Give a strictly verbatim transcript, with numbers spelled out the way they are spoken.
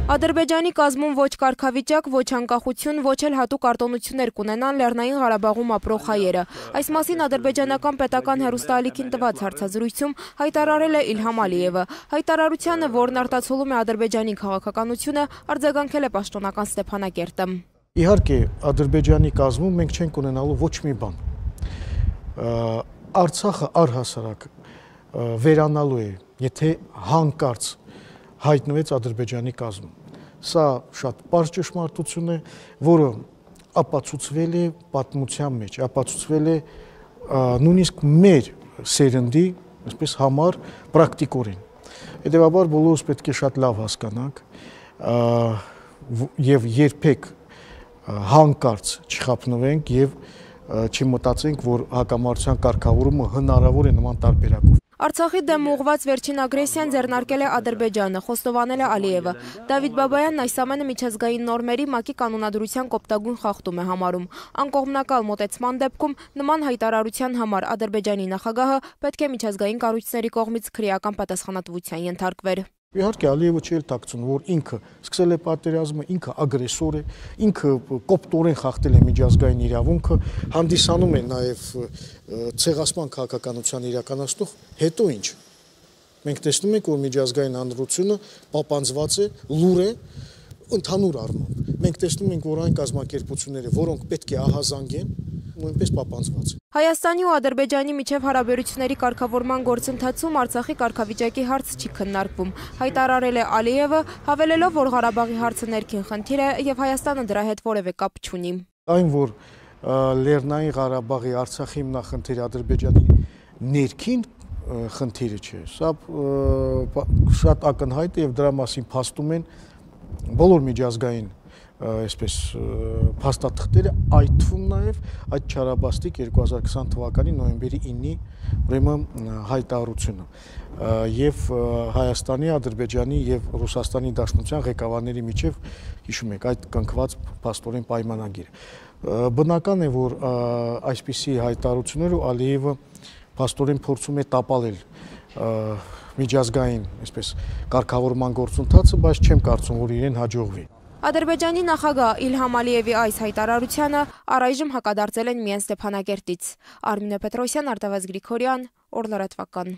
Ադրբեջանի կազմում ոչ կարգավիճակ, ոչ անկախություն, ոչ էլ հատուկ արտոնություններ կունենան Լեռնային Ղարաբաղում ապրող հայերը։ Այս մասին ադրբեջանական պետական հեռուստաալիքին տված հարցազրույցում հայտարարել է Իլհամ Ալիևը։ Հայտարարությանը, որն արտացոլում է Ադրբեջանի քաղաքականությունը, արձագանքել է պաշտոնական Ստեփանակերտը։ Իհարկե, Ադրբեջանի կազմում մենք չենք ունենալու ոչ մի բան։ Արցախը առհասարակ վերանալու է, եթե հանկարծ հայտնվեց Ադրբեջանի կազմում։ Սա շատ պարզ ճշմարտություն է, որը ապացուցվել է պատմության մեջ, ապացուցվել է նույնիսկ մեր սերնդի, այսպես համար պրակտիկորեն։ Հետևաբար բոլորս պետք է շատ լավ հասկանանք եւ երբեք հանկարծ չխափնվենք եւ չմտածենք, որ հակամարտության կարգավորումը հնարավոր է նման տարբերակով։ Արցախի դեմ ուղղված վերջին ագրեսիան ձեռնարկել է Ադրբեջանը, խոստովանել է Ալիևը։ Դավիթ Բաբայանն այս ամենը միջազգային նորմերի ՄԱԿ-ի կանոնադրության կոպտագույն խախտում է համարում։ Անկողմնակալ մոտեցման դեպքում նման հայտարարության համար Ադրբեջանի նախագահը պետք է միջազգային կառույցների կողմից քրեական պատասխանատվության ենթարկվեր։ Իհարկե Ալիևը չի տակցնում, որ ինքը սկսել է պատերազմը, ինքը ագրեսոր է, ինքը կոպտորեն խախտել է միջազգային իրավունքը, հանդիսանում է նաև ցեղասպան քաղաքականության իրականացնող, հետո ինչ։ Մենք տեսնում ենք, որ միջազգային հանրությունը պապանձված է, լուր է, ընդհանուր առմամբ։ Մենք տեսնում ենք, որ այն կազմակերպությունները, որոնք պետք է ահազանգեն, նույնպես պապանձված են։ Հայաստանի ու Ադրբեջանի միջև հարաբերությունների կարգավորման գործընթացում Արցախի կարգավիճակի հարց չի քննարկվում, հայտարարել է Ալիևը, հավելելով, որ Ղարաբաղի հարցը ներքին խնդիր է եւ Հայաստանը դրա հետ որևէ կապ չունի։ Այն, որ Լեռնային Ղարաբաղի Արցախի հիմնախնդիրը Ադրբեջանի ներքին խնդիրը չէ, սա շատ ակնհայտ է եւ դրա մասին փաստում են բոլոր միջազգային այսպես փաստաթղթերը, այդ թվում նաև այդ չարաբաստիկ երկու հազար քսան թվականի նոյեմբերի ինի ուրեմն հայտարարությունը եւ Հայաստանի, Ադրբեջանի եւ Ռուսաստանի Դաշնության ղեկավարների միջև հիշում եք այդ կնքված փաստորեն պայմանագիրը։ Բնական է, որ այսպիսի հայտարարությունները Ալիևը փաստորեն փորձում է տապալել միջազգային այսպես կարգավորման գործընթացը, բայց չեմ կարծում, որ իրեն հաջողվի։ Ադրբեջանի նախագահ Իլհամ Ալիևի այս հայտարարությանը առայժմ հակադարձել են միայն Ստեփանակերտից։ Արմինե Պետրոսյան, Արտավազդ Գրիգորյան, Օր լրատվական։